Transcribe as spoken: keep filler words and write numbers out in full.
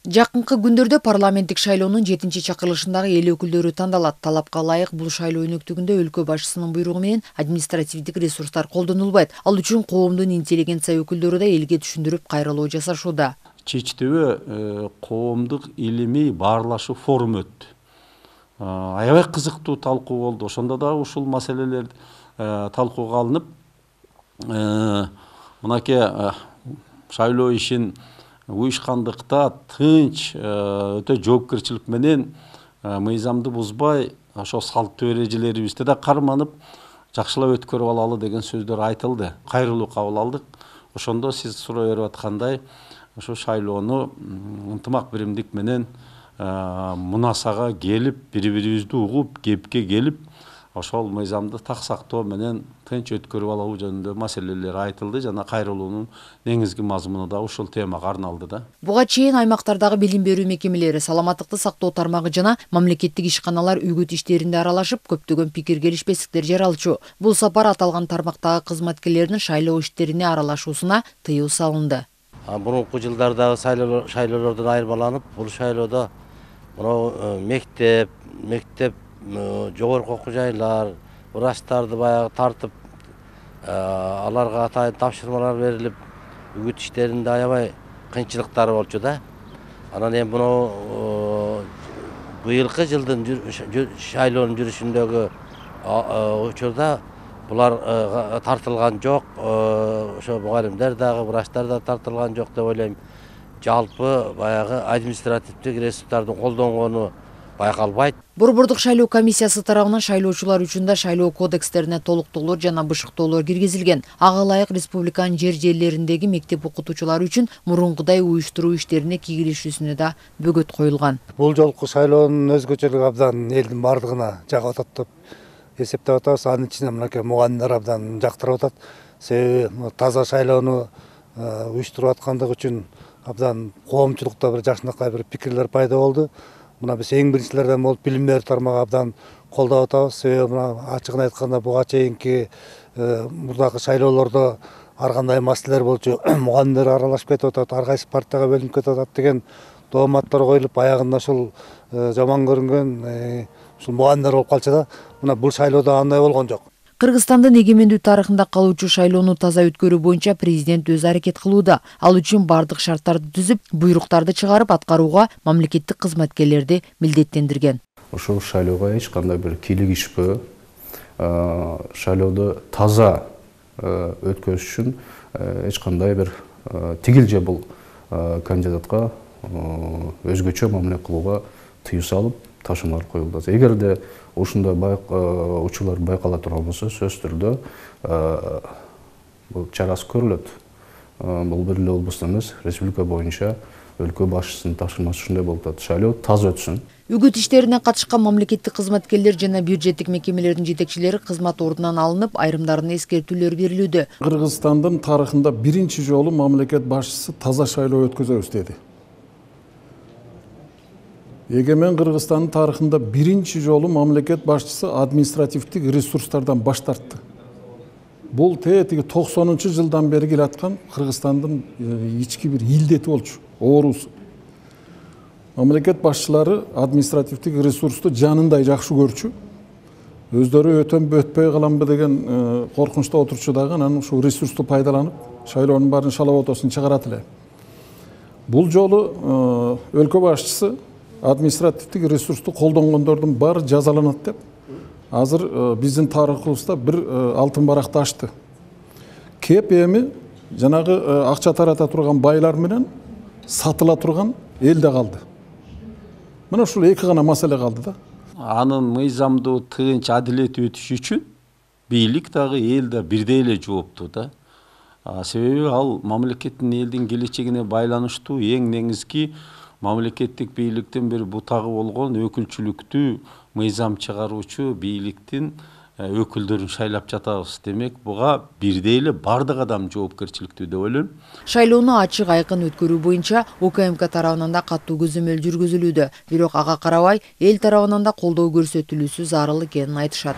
Жакынкы күндөрдө парламенттик шайлоонун жетинчи чакырылышындагы эл өкүлдөрү тандалат. Талапка ылайык бул шайлоо өнөктүгүндө өлкө башчысынын буйругу менен административдик ресурстар колдонулбайт. Ал үчүн коомдун интеллигенция өкүлдөрү да элге түшүндүрүп кайрылуу жасашууда. Чечтөбө коомдук илимий баарлашуу форуму өттү. Аябай кызыктуу талкуу болду. Ошондо да ушул маселелер талкууга алынып, мынакей шайлоо ишин уюшкандыкта тынч, өтө жоопкерчилик менен мыйзамды бузбай, ошо салттуу эрежелерибизди да карманып, жакшылап өткөрүп алалы деген сөздөр айтылды. Кайрылуу кабыл алдык. Ошондо сиз суроо берип аткандай, ошо шайлоону ынтымак биримдик менен мунасага келип, бири-бирибизди угуп, кепке келип, ошол мыйзамды так сактоо менен тынч өткөрүп алуу жөнүндө маселелер айтылды жана кайрылуунун негизги мазмуну да ушул темага арналды да. Буга чейин аймактардагы билим берүү мекемелери, саламаттыкты сактоо тармагы жана мамлекеттик ишканалар үгүт иштеринде аралашып, көптөгөн пикир келишпестиктер жаралчу. Бул сапар аталган тармактагы кызматкерлердин шайлоо иштерине аралашуусуна тыюу салынды. Мурунку жылдардагы шайлоолордон айырмаланып, бул шайлоодо мына мектеп, мектеп жогорку окуу жайлар, врачтарды баягы тартып, аларга атайын тапшырмалар берилип, үгүт иштеринде аябай кыйынчылыктар болчу да. Анан эми мына быйылкы жылдын шайлоонун жүрүшүндөгү учурда булар тартылган жок, ошо мугалимдер дагы, врачтар да тартылган жок деп ойлойм. Жалпы баягы административдик ресурстардын колдонгону байкалбайт. Борбордук шайлоо комиссиясы тарабынан шайлоочулар үчүн да шайлоо кодекстерине толуктоолор жана бышыктоолор киргизилген. Ага ылайык республиканын жер жерлериндеги мектеп окутуучулары үчүн мурункудай уюштуруу иштерине кийлешүүсүнө да бөгөт коюлган. Бул жолку шайлоонун өзгөчөлүгү абдан элдин бардыгына жагып атат деп эсептеп атабыз. Анын ичинде мынакей мугалимдер абдан жактырып атат. Себеби таза шайлоону уюштуруп аткандыгы үчүн абдан коомчулукта бир жакшынакай бир пикирлер пайда болду. Мына биз эң биринчилерден болуп билим берүү тармагы абдан колдоп атабыз. Себеби мына ачыгын айтканда буга чейинки мурдагы шайлоолордо ар кандай маселелер болчу, мугалимдер аралашып кетип атат, ар кайсы партияга бөлүнүп кетип атат деген дооматтар коюлуп, аягында ушул жаман көрүнгөн ушул мугалимдер болуп калчу да. Мына бул шайлоодо андай болгон жок. Кыргызстандын эгемендүү тарыхында калуучу шайлоону таза өткөрүү боюнча президент өзү аракет кылууда. Ал үчүн бардык шарттарды түзүп, буйруктарды чыгарып аткарууга мамлекеттик кызматкерлерди милдеттендирген. Ошол шайлоого эч кандай бир кийлигишпөө, шайлоодо таза өткөрүш үчүн эч кандай бир тигил же бул кандидатка өзгөчө мамиле кылууга тыюу салып, ташуумдар коюлду. Эгерде ушундай учурлар байкала турган болсо, сөзсүз түрдө бул чарасы көрүлөт. Бул бир эле облусту эмес, республика боюнча өлкө башчысынын тапшырмасы ушундай болуп атат. Шайлоо таза өтсүн. Үгүт иштерине катышкан мамлекеттик кызматкерлер жана бюджеттик мекемелердин жетекчилери кызмат ордунан алынып, айрымдарына эскертүүлөр берилүүдө. Кыргызстандын тарыхында биринчи жолу мамлекет башчысы таза шайлоо өткөзөбүз деди. Эгемен Кыргызстандын тарыхында биринчи жолу мамлекет башчысы административдик ресурстардан баш тартты. Бул тетиги токсонунчу жылдан бери келаткан Кыргызстандын ички бир илдети болчу, оорусу. Мамлекет башчылары административдик ресурсту жанындай жакшы көрчү. Өздөрү өтөм өтпөй каламбы деген коркунучта отурчу дагы, анан ушул ресурсту пайдаланып, шайлоонун баарын шалабатосун чыгарат эле. Бул жолу өлкө башчысы административдик ресурсту колдонгондордун баары жазаланат деп азыр биздин тарыхыбызда бир алтын баракты ачты. Кеп эми жанагы акча тарата турган байлар менен сатыла турган эл да калды. Мына ушул эки гана маселе калды да. Анын мыйзамдуу тынч адилеттүү өтүшү үчүн бийлик дагы эл да бирдей эле жооптуу да. Себеби ал мамлекеттин элдин келечегине байланыштуу эң негизги мамлекеттик бийликтин бир бутагы болгон өкүлчүлүктүү мыйзам чыгаруучу бийликтин өкүлдөрүн шайлап жатабыз. Демек, буга бирдей эле бардык адам жоопкерчиликтүү деп ойлойм. Шайлоону ачык айкын өткөрүү боюнча УКМК тарабынан да катуу көзөмөл жүргүзүлүүдө. Бирок ага карабай эл тарабынан да колдоо көрсөтүлүүсү зарыл экенин айтышат.